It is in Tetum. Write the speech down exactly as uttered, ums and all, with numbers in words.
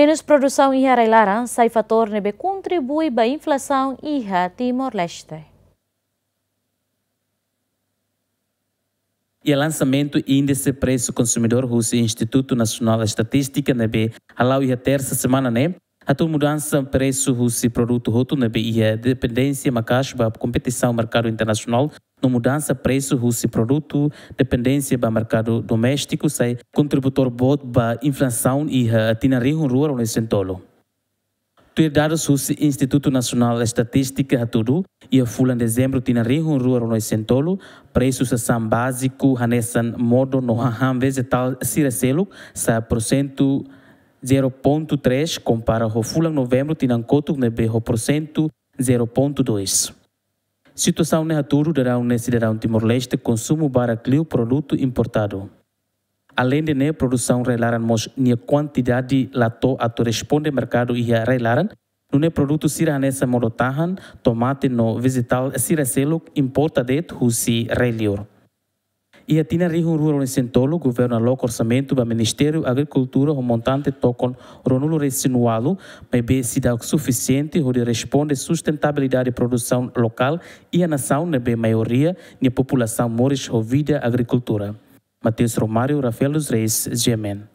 Menus produsaun iha rai-laran sai fatór ne'ebé kontribui ba inflasaun iha Timor-Leste. Iha lansamentu índise presu konsumidór husi Institutu Nasionál Estatístika ne'ebé hala'o iha tersa semana ne'e, hatuur mudansa presu husi produtu hotu ne'ebé iha dependénsia maka'as ba kompetisaun merkadu internasionál, no mudansa presu husi produtu dependénsia ba merkadu doméstiku sai kontributór boot ba inflasaun iha tinan rihun rua ruanulu-resin-tolu. Tuir dadus husi Institutu Nasionál Estatístika hatudu, iha fulan Dezembru tinan rihun rua ruanulu-resin-tolu, presu sasán báziku hanesan modo no hahán vejetál sira seluk sa'e porsentu zero pontu três, kompara ho fulan Novembru tinan kotuk ne'ebé ho porsentu zero pontu dois. Situasaun ne'e hatudu daudaun ne'e sidadaun Timor-Leste konsumu barak liu produtu importadu. Aleinde ne'e, produsaun rai-laran mós nia kuantidade la to'o atu responde merkadu iha rai-laran, nune'e produtu sira hanesan modo-tahan, tomate no vejetál sira seluk importa de'it husi rai-liur. Iha tinan rihun rua ruanulu-resin-tolu, governu aloka orsamentu ba Ministériu Agrikultura ho montante tokon ruanulu-resin-ualu, maibé seidauk sufisiente hodi responde sustentabilidade produsaun lokál iha nasaun ne'ebé maioria nia populasaun moris ho vida agrikultura. Mateus Romário, Rafael dos Reis, G M N.